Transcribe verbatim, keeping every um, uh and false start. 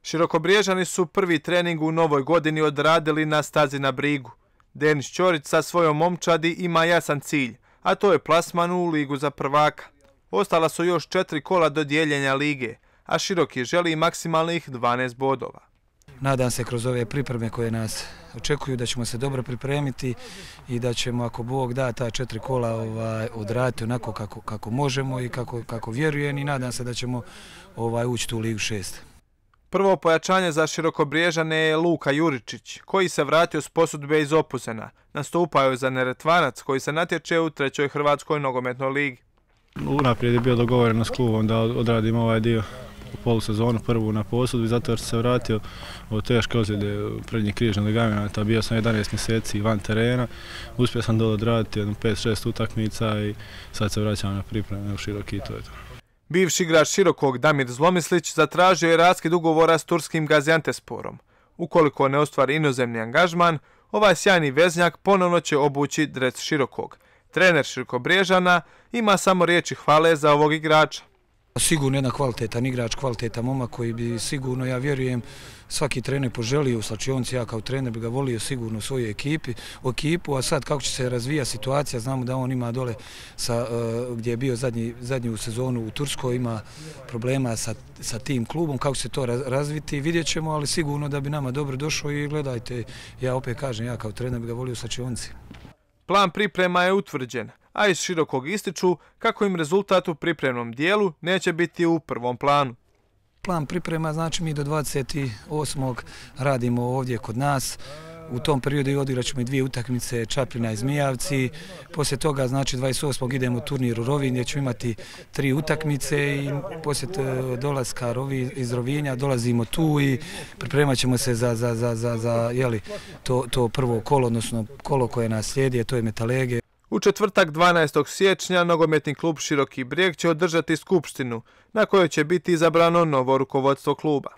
Širokobriježani su prvi trening u novoj godini odradili na stazi na Brigu. Denis Ćorić sa svojom momčadi ima jasan cilj, a to je plasman u ligu za prvaka. Ostala su još četiri kola do dijeljenja lige, a Široki želi maksimalnih dvanaest bodova. Nadam se kroz ove pripreme koje nas očekuju da ćemo se dobro pripremiti i da ćemo, ako Bog da, ta četiri kola ovaj, odraditi onako kako, kako možemo i kako, kako vjerujem, i nadam se da ćemo ovaj, ući u ligu šest. Prvo pojačanje za Širokobriježane je Luka Juričić, koji se vratio s posudbe iz Opuzena. Nastupao je za Neretvanac, koji se natječe u trećoj Hrvatskoj nogometnoj ligi. Unaprijed je bio dogovoreno s klubom da odradimo ovaj dio u polusezonu, prvu na posudbi, zato jer sam se vratio od teške ozljede prednjih križnih ligamenata. Bio sam jedanaest mjeseci van terena, uspio sam dole odraditi jedno pet šest utakmica i sad se vraćam na pripreme u Široki i to je to. Bivši igrač Širokog Damir Zlomislić zatražio je raskid ugovora s turskim Gaziantesporom. Ukoliko ne ostvari inozemni angažman, ovaj sjajni veznjak ponovno će obući dres Širokog. Trener Širokobriježana ima samo riječi hvale za ovog igrača. Sigurno jedan kvalitetan igrač, kvalitetan momak koji bi sigurno, ja vjerujem, svaki trener poželio u slačionici. Ja kao trener bi ga volio sigurno u svojoj ekipi, u ekipu, a sad kako će se razvija situacija, znamo da on ima dole sa, uh, gdje je bio zadnji, zadnju sezonu u Turskoj, ima problema sa, sa tim klubom, kako će se to razviti, vidjet ćemo, ali sigurno da bi nama dobro došao i gledajte, ja opet kažem, ja kao trener bi ga volio u slačionici. Plan priprema je utvrđen, a iz Širokog ističu kako im rezultat u pripremnom dijelu neće biti u prvom planu. Plan priprema znači mi do dvadeset osmog radimo ovdje kod nas. U tom periodu odigrat ćemo i dvije utakmice, Čapljina i Zmijavci. Poslije toga znači dvadeset osmog idemo u turnir u Rovinj gdje ćemo imati tri utakmice i poslije dolaska iz Rovinja dolazimo tu i pripremat ćemo se za, za, za, za, za jeli, to, to prvo kolo, odnosno kolo koje nas slijedi, to je Metalege. U četvrtak dvanaestog siječnja nogometni klub Široki Brijeg će održati skupštinu na kojoj će biti izabrano novo rukovodstvo kluba.